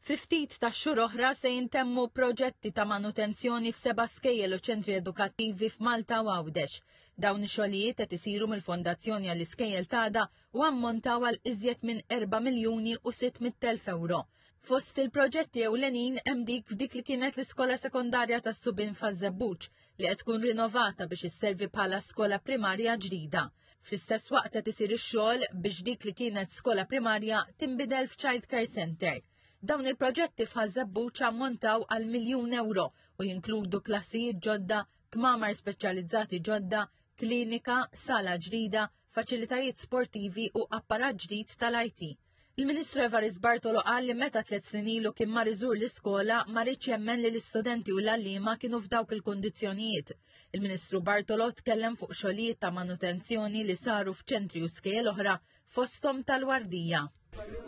Fi ftit tax-xhur oħra se jintemmu proġetti ta' manutenzjoni f'seba' skejjel u ċentri edukattivi f'Malta u Għawdex. Dawn ix-xogħlijiet qed isiru mill-Fondazzjoni għall-Iskejjel t'Għada u ammontaw għal iżjed minn 4 miljuni u 600,000 ewro. Fost il-proġetti ewlenin hemm dik f'dik li kienet l-iskola sekondarja tas-Subien faż-Żebbuġ li qed tkun rinnovata biex isservi bħala skola primarja ġdida. Fl-istess waqt qed isir ix-xogħol biex dik li kienet skola primarja tinbidel f'Child Care Center. Dawn il-proġetti f'Ħaż-Żebbuġ ammontaw għal miljun ewro u jinkludu klassijiet ġodda, kmamar speċjalizzati ġodda, klinika, sala ġdida, faċilitajiet sportivi u apparat ġdid tal-IT. Il-Ministru Evarist Bartolo qal li meta tliet snin ilu kien mar iżur l-iskola ma riedx jemmen li l-istudenti u l-għalliema kienu f'dawk il-kundizzjonijiet. Il-Ministru Bartolo tkellem fuq xogħlijiet ta' manutenzjoni li saru f'ċentri u skejjel oħra fosthom tal-Wardija.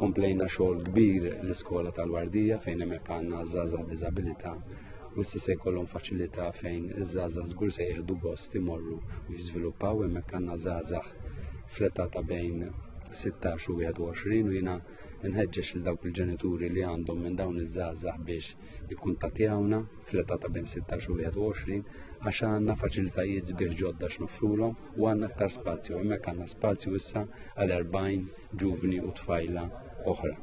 Komplejna xogħol kbir l-iskola tal-Wardija fejn hemmhekk għandna żgħażagħ b'diżabilità u issa se jkollhom faċilità fejn iż-żgħażagħ żgur se jieħdu gost imorru u jiżviluppaw hemmhekk għandna żgħażagħ fl-età ta' bejn 16 u 21 u jiena nħeġġeġ lil dawk il-ġenituri li għandhom minn dawn iż-żgħażagħ biex jikkuntattjawna fl-età ta' bejn 16 u 21 għax għandna faċilitajiet sbieħ ġodda x'noffrulhom u għandna aktar spazju. Hemmhekk għandna spazju issa għal 40 ġuvni u tfajla oħra.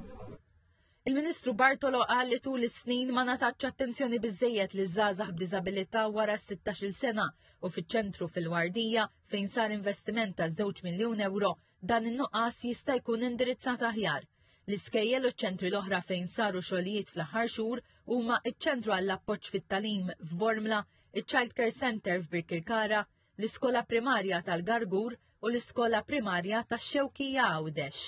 Il-Ministru Bartolo qal li tul is-snin ma ngħatatx attenzjoni biżejjed li żgħażagħ b'diżabilità wara s-16-il sena u fiċ-ċentru fil-Wardija fejn sar investiment ta' 2 miljun euro dan in-nuqqas jista' jkun indirizzat aħjar. L-iskejjel u ċ-ċentri l-oħra fejn saru xogħlijiet fl-aħħar xhur huma iċ-ċentru għall-appoġġ fit-tagħlim f'Bormla, iċ-Child Care Center f'Birkirkara, l-Iskola Primarja tal-Gargur u l-Iskola Primarja tax-Xewkija Għawdex.